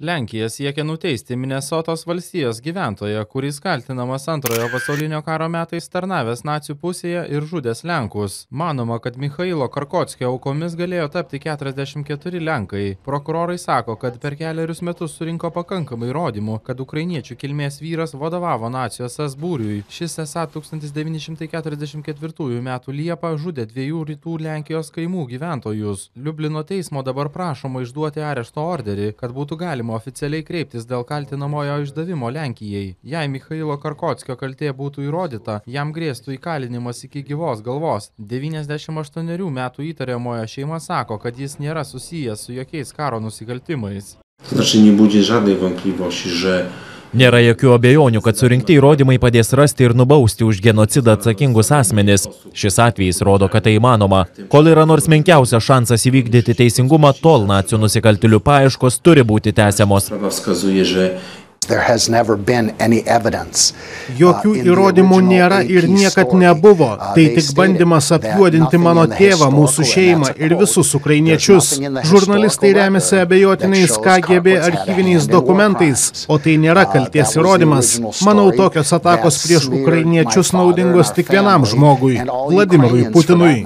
Lenkija siekia nuteisti Minesotos valstijos gyventoją, kuris kaltinamas Antrojo pasaulinio karo metais tarnavęs nacių pusėje ir žudęs Lenkus. Manoma, kad Michailo Karkotskio aukomis galėjo tapti 44 Lenkai. Prokurorai sako, kad per kelerius metus surinko pakankamai įrodymų, kad ukrainiečių kilmės vyras vadovavo nacių SS būriui. Šis esą 1944 metų Liepą žudė 2 rytų Lenkijos kaimų gyventojus. Liublino teismo dabar prašoma išduoti arešto orderį, kad būtų galima oficialiai kreiptis dėl kaltinamojo išdavimo Lenkijai. Jei Michailo Karkotskio kaltė būtų įrodyta, jam grėstų įkalinimas iki gyvos galvos. 98 metų įtariamojo šeima sako, kad jis nėra susijęs su jokiais karo nusikaltimais. Nie budzi żadnej wątpliwości, że Nėra jokių abejonių, kad surinkti įrodymai padės rasti ir nubausti už genocidą atsakingus asmenis. Šis atvejis rodo, kad tai įmanoma. Kol yra nors menkiausias šansas įvykdyti teisingumą, tol nacių nusikaltėlių paieškos turi būti tęsiamos. Jokių įrodymų nėra ir niekad nebuvo. Tai tik bandymas apjuodinti mano tėvą, mūsų šeimą ir visus ukrainiečius. Žurnalistai remiasi abejotinais KGB archyviniais dokumentais, o tai nėra kalties įrodymas. Manau, tokios atakos prieš ukrainiečius naudingos tik vienam žmogui – Vladimirui Putinui.